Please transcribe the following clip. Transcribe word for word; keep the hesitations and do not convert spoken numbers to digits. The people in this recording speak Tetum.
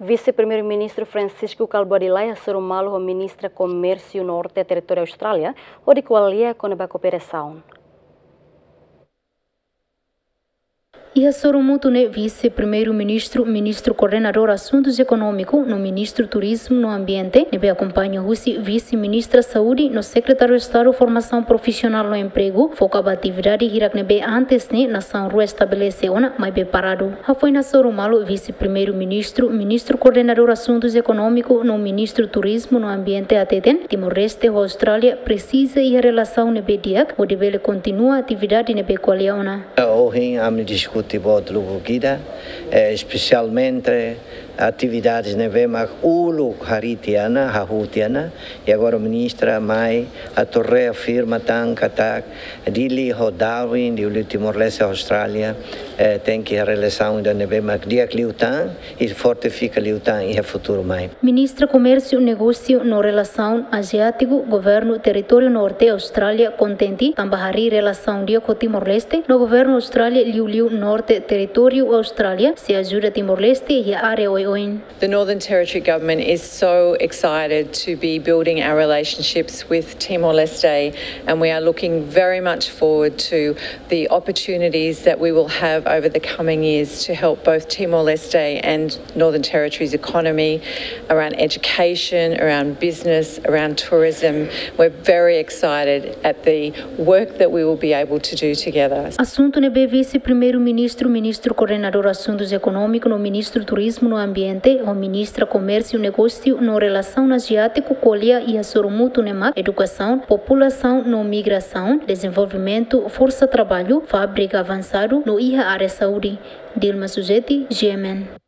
Vise-Primeiru-Ministru Francisco Kalbuadi Lay hasoru malu ho Ministra Komérsiu Norte Territóriu Austrália, hodi ko'alia kona-ba kooperasaun. Iha hasoru mútuu ne'e Vise-Primeiru-Ministru, Ministru Koordenadór Asuntus Ekonómiku, no Ministru Turizmu no Ambiente, ne'ebé akompaña husi Vise-Ministra Saúde no Sekretáriu Estadu Formasaun Profisionál no Empregu, foka ba atividade hirak ne'ebé antes ne'e nasaun rua estabelese ona, maibé paradu. Hafoin hasoru malu Vise-Primeiru-Ministru, Ministru Koordenadór Asuntus Ekonómiku no Ministru Turizmu no Ambiente hateten, Timor-Leste ho Austrália presiza iha relasaun ne'ebé di'ak, hodi bele kontinua atividade ne'ebé ko'alia ona. Ohin ami diskute boot lubuk ida, eh, espesialmente atividades ne'ebé mak uluk harii tiha ona, hahú tiha ona, i agora ministra mai atu reafirma tan katak Dili ho Darwin, Dili Timor-Leste, Austrália, eh, tenke relasaun ida ne'ebé mak di'ak liután, i fortifika liután iha futuru mai. Ministra Komérsiu, Negósiu no Relasaun Aziátiku, Governu Territóriu Norte Austrália kontente tanba harii relasaun di'ak ho Timor-Leste, no Governu Austrália liuliu Norte Territóriu Austrália sei ajuda Timor-Leste iha área oioin. The Northern Territory Government is so excited to be building our relationships with Timor-Leste, and we are looking very much forward to the opportunities that we will have over the coming years to help both Timor-Leste and Northern Territory's economy, around education, around business, around tourism. We're very excited at the work that we will be able to do together. Asuntu ne'ebé Vise-Primeiru-Ministru, Ministru Koordenadór Asuntus Ekonómiku no Ministru Turizmu no Ambiente, ho Ministra Komérsiu, Negósiu no Relasaun Aziátiku ko'alia iha hasoru mútuu ne'e mak edukasaun, populasaun no migrasaun, dezenvolvimentu forsa traballu, fábrika avansadu no iha área saúde. Dilma Suzeti, G M N.